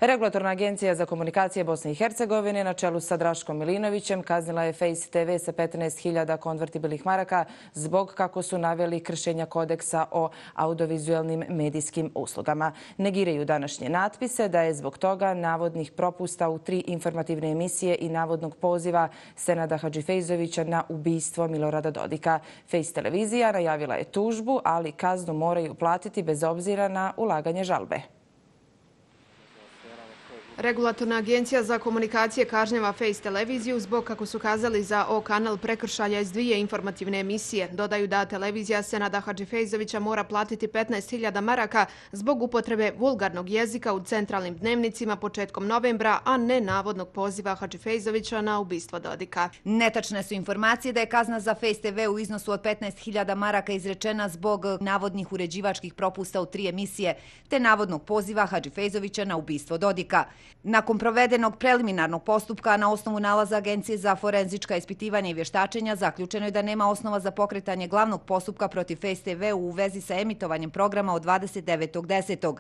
Regulatorna agencija za komunikacije Bosne i Hercegovine na čelu sa Draškom Milinovićem kaznila je Face TV sa 15.000 konvertibilnih maraka zbog, kako su naveli, kršenja kodeksa o audiovizualnim medijskim uslugama. Negiraju današnje natpise da je zbog toga navodnih propusta u 3 informativne emisije i navodnog poziva Senada Hadžifejzovića na ubistvo Milorada Dodika. Face televizija najavila je tužbu, ali kaznu moraju platiti bez obzira na ulaganje žalbe. Regulatorna agencija za komunikacije kažnjava Face televiziju zbog, kako su kazali za O kanal, prekršaja iz 2 informativne emisije. Dodaju da televizija Senada Hadžifejzovića mora platiti 15.000 maraka zbog upotrebe vulgarnog jezika u centralnim dnevnicima početkom novembra, a ne navodnog poziva Hadžifejzovića na ubistvo Dodika. Netačne su informacije da je kazna za Face TV u iznosu od 15.000 maraka izrečena zbog navodnih uređivačkih propusta u 3 emisije, te navodnog poziva Hadžifejzovića na ubistvo Dodika. Nakon provedenog preliminarnog postupka na osnovu nalaza Agencije za forenzička ispitivanja i vještačenja zaključeno je da nema osnova za pokretanje glavnog postupka protiv Face TV u vezi sa emitovanjem programa od 29.10.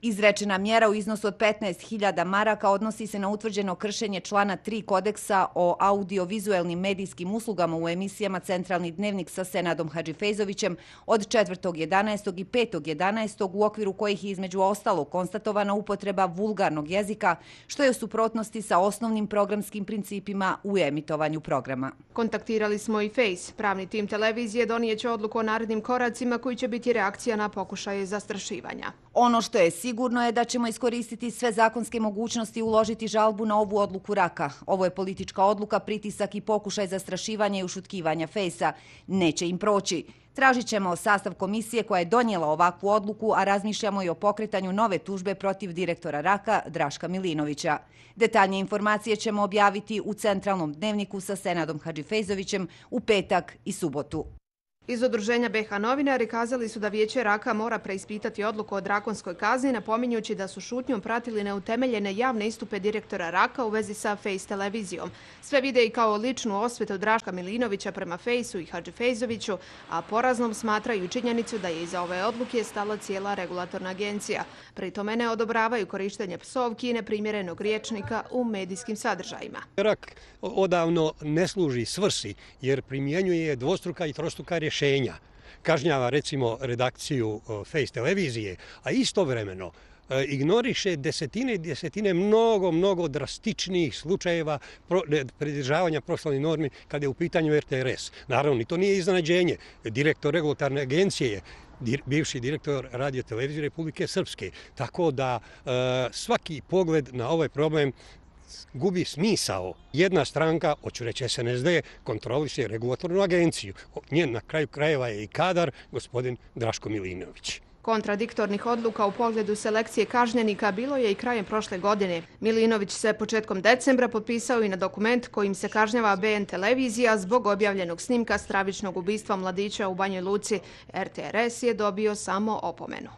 Izrečena mjera u iznosu od 15.000 maraka odnosi se na utvrđeno kršenje člana 3 kodeksa o audiovizualnim medijskim uslugama u emisijama Centralni dnevnik sa Senadom Hadžifejzovićem od 4.11. i 5.11. u okviru kojih je između ostalog konstatovana upotreba vulgarnog jezika, što je u suprotnosti sa osnovnim programskim principima u emitovanju programa. Kontaktirali smo i Face. Pravni tim televizije donijeće odluku o narednim koracima koji će biti reakcija na pokušaje zastrašivanja. Ono što je sigurno je da ćemo iskoristiti sve zakonske mogućnosti i uložiti žalbu na ovu odluku RAK-a. Ovo je politička odluka, pritisak i pokušaj zastrašivanja i ušutkivanja Face-a. Neće im proći. Tražit ćemo sastav komisije koja je donijela ovakvu odluku, a razmišljamo i o pokretanju nove tužbe protiv direktora RAK-a Draška Milinovića. Detaljnije informacije ćemo objaviti u centralnom dnevniku sa Senadom Hadžifejzovićem u petak i subotu. Iz Udruženja BiH novinari kazali su da Vijeće RAK-a mora preispitati odluku o drakonskoj kazni, napominjući da su šutnjom pratili neutemeljene javne istupe direktora RAK-a u vezi sa Face televizijom. Sve vide i kao ličnu osvetu Draška Milinovića prema Face-u i Hadžifejzoviću, a poraznom smatraju činjenicu da je iza ove odluke stala cijela regulatorna agencija. Pri tome ne odobravaju korištenje psovki i neprimjerenog rječnika u medijskim sadržajima. RAK odavno ne služi svrsi jer primjenjuje dvostruka i trostruka rješenja. Kažnjava recimo redakciju Face televizije, a istovremeno ignoriše desetine i desetine mnogo drastičnijih slučajeva pridržavanja profesionalnih normi kada je u pitanju RTRS. Naravno, i to nije iznenađenje. Direktor regulatorne agencije je bivši direktor Radio televizije Republike Srpske. Tako da svaki pogled na ovaj problem gubi smisao. Jedna stranka, hoću reći SNSD, kontroliše regulatornu agenciju. Njen na kraju krajeva je i kadar, gospodin Draško Milinović. Kontradiktornih odluka u pogledu selekcije kažnjenika bilo je i krajem prošle godine. Milinović se početkom decembra potpisao i na dokument kojim se kažnjava BN televizija zbog objavljenog snimka stravičnog ubistva mladića u Banjoj Luci. RTRS je dobio samo opomenu.